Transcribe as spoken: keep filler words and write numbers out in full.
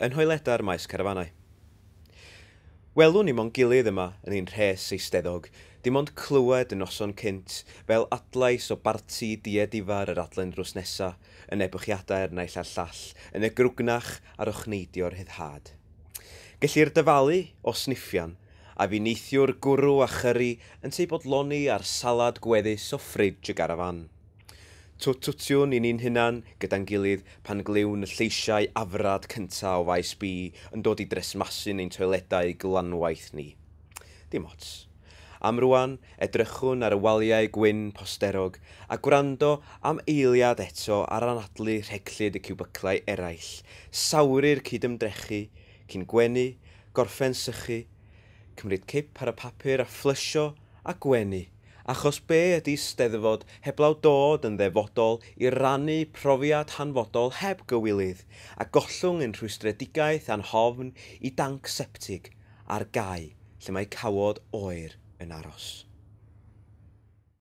yn nhoiledau'r maes carafanau. Welwn ni mo'n gilydd yma yn ein rhes eisteddog, dim ond clywed y noson cynt fel adlais o barti diedifar yr adlen drws nesa, yn ebychiadau'r naill a'r llall, yn y grwgnach a'r ochneidio'r rhyddhad. Gellir dyfalu o sniffian, a fi neithiwr gwrw a chyri yn teu bodloni ar salad gweddus o ffridge y garafan. Twt-twtiwn i ni'n hunan gyda'n gilydd pan glywn y lleisiau afrad cynta o faes B yn dod i dresmasu'n ein toiledau glanwaith ni. Dim ots. Am rwan, edrychwn ar y waliau gwyn posterog a gwrando am eiliad eto ar anadlu rheglyd y ciwbyclau eraill, sawru'r cydymdrechu, cyn gwenu, gorffen sychu, cymryd cip ar y papur a fflysio a gwenu. Achos be ydy Steddfod heblaw dod yn ddefodol i rannu profiad hanfodol heb gywilydd, a gollwng ein rhwystredigaeth a'n hofn i danc septig ar gae lle mae cawod oer yn aros.